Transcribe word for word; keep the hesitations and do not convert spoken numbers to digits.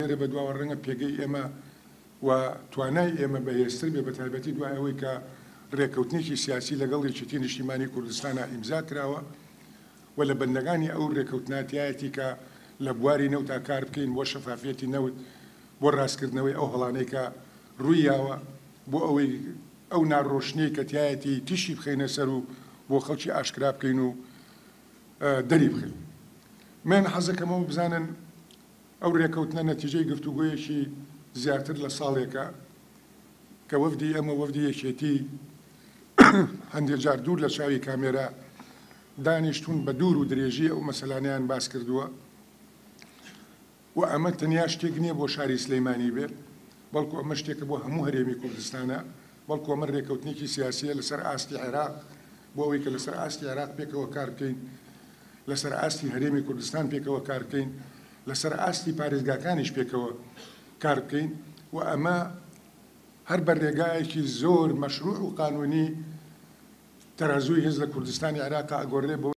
لێرە بەدواوە ڕەنگە پێگەی ئێمە و توانای ئێمە بەهێزتر بێ، بە تایبەتی دوای ئەوەی کە ڕێککەوتنێکی سیاسی لەگەڵ یەکێتی نیشتیمانی کوردستانە ئیمزا کراوە و لە بەندەکانی ئەو ڕێککەوتنە تیایەتی کە لە بواری نەوتا کار بکەین بۆ شەفافیەتی نەوت، بۆ ڕاستکردنەوەی ئەو هەڵانەی کە ڕوویاوە، بۆ ئەوەی ئەو ناڕۆشنیەی کە تیایەتی تیشی بخەینە سەر و بۆ خەڵکی ئاشکرا بکەین و دەری بخەین. من حەزەکەمەوە بزانن ئەو ڕێکەوتنە نەتیجەی گفتوگۆیەکی زیاتر لە ساڵێکە کە وەفدی ئەمە وەفدی یەکێتی هەندێک جار دوور لە چاوی کامێرا دانیشتون بە دوور و درێژی ئەو مەسەلانەیان باس کردووە و ئەمە تەنیا شتێک نییە بۆ شاری سلەیمانی بێت، بەڵکو ئەمە شتێکە بۆ هەموو هەرێمی کوردستانە، بەڵکو ئەمە ڕێکەوتنێکی سیاسیە لەسەر ئاستی عێراق، بۆ ئەوەی کە لەسەر ئاستی عێراق پێکەوە کار بکەین، لەسەر ئاستی هەرێمی کوردستان پێکەوە کار بکەین، لەسەر ئاستی پارێزگاکانیش پێکەوە کار بکەین و ئەمە هەر بە ڕێگایەکی زۆر مەشروع و قانونی تەرازووی هێز لە کوردستانی عێراق ئەگۆڕێ بۆ